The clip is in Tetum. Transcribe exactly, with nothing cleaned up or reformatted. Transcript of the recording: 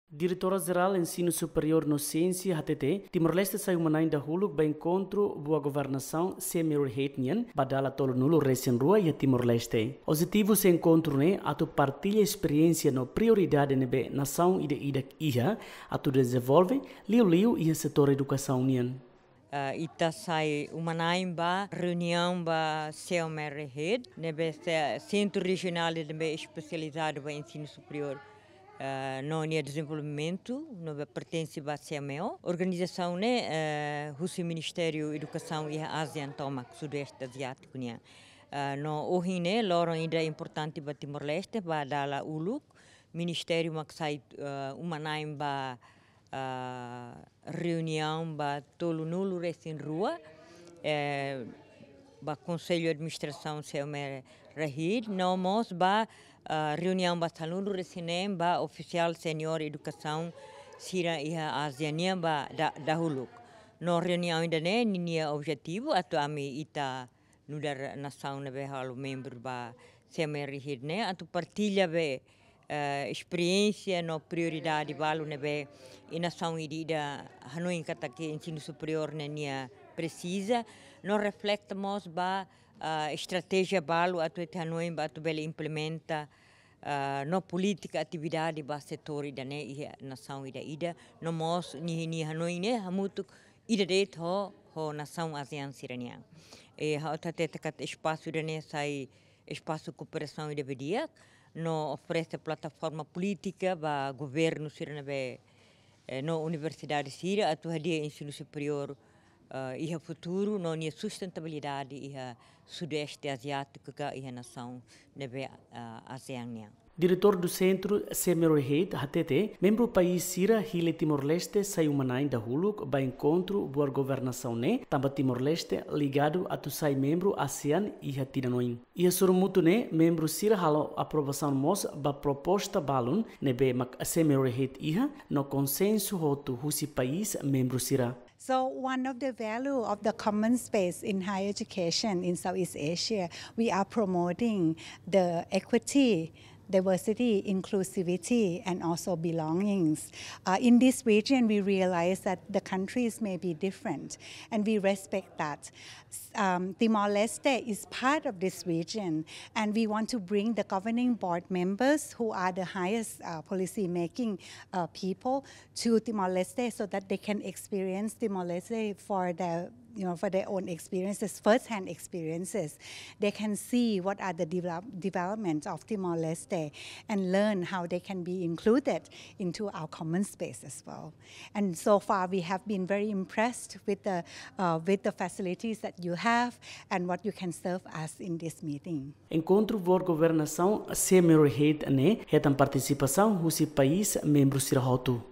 Diretora Jerál Ensinu Superiór no Siénsia hatete, Timor-Leste sai uma-na'in dahuluk ba enkontru boa governasaun C M R H nian, ba dala tolunulu resin rua iha Timor-Leste. Objetivu husi enkontru ne'e atu partilla esperiénsia no prioridade ne'ebé nasaun ida-idak iha atu dezenvolve, liuliu iha setór edukasaun nian. Ah, ita sai uma-na'in ba reuniaun ba C M R H, ne'ebé se-, Sentru Rejionál ne'ebé espesializadu ba ensinu superiór, ah, no nia dezenvolvimentu, ne'ebé pertense ba C M O. Organizasaun ne'e, eh, husi Ministériu Edukasaun iha ASEAN tomak, Sudeste Aziátiku nian. Ah, no ohin ne'e loron ida importante ba Timor-Leste, ba dala uluk, Ministériu mak sai, eh, uma-na'in ba ah, reuniaun ba tolunulu resin rua, eh, ba Konsellu Administrasaun C M R H, no mós ba, ah, reuniaun ba sanulu resin neen ba ofisiál seniór edukasaun sira iha ASEAN nian ba da-, dahuluk. No reuniaun ida-ne'e ninia objetivu atu ami ita nu'udar nasaun ne'ebé halo membru ba C M R H ne'e atu partilla be, eh, esperiénsia no prioridade balu ne'ebé iha nasaun ida-idak hanoin katak ensinu superiór ne'e nia presiza, no reflete mós ba, ah, estratéjia balu atu ita hanoin ba atu bele implementa, ah, no polítika atividade ba setór ida-ne'e iha nasaun ida-idak, no mós ninia hanoin ne'e hamutuk ida de'it ho, ho nasaun ASEAN sira-nian. E ha'u hatete katak espasu ida-ne'e sai espasu kooperasaun ida be di'ak, no oferese plataforma polítika ba governu sira ne'ebé, eh, no universidade sira atu hadi'a ensinu superiór, eh, iha futuru, no nia sustentabilidade iha Sudeste Aziátiku ka iha nasaun ne'ebé, eh, ASEAN nian. Diretór do Sentru C M R H hatete, membru país sira hili Timor-Leste sai uma-na'in dahuluk ba enkontru boa governasaun ne'e, tanba Timor-Leste ligadu atu sai membru ASEAN iha tinan oin. Iha sorumutu ne'e, membru sira halo aprovasaun mós ba proposta balun ne'ebé mak C M R H iha, no konsensu hotu husi país membru sira. So one of the value of the common space in higher education in Southeast Asia, we are promoting the equity, diversity, inclusivity, and also belongings. Uh, in this region, we realize that the countries may be different, and we respect that. S-, um, Timor-Leste is part of this region, and we want to bring the governing board members, who are the highest, uh, policy making, uh, people, to Timor-Leste so that they can experience Timor-Leste for their, you know, for their own experiences, first-hand experiences. They can see what are the develop-, development of Timor-Leste and learn how they can be included into our common space as well. And so far, we have been very impressed with the, uh, with the facilities that you have and what you can serve us in this meeting. Enkontru boa governasaun C M R H ne'e hetan partisipasaun husi país membru sira hotu.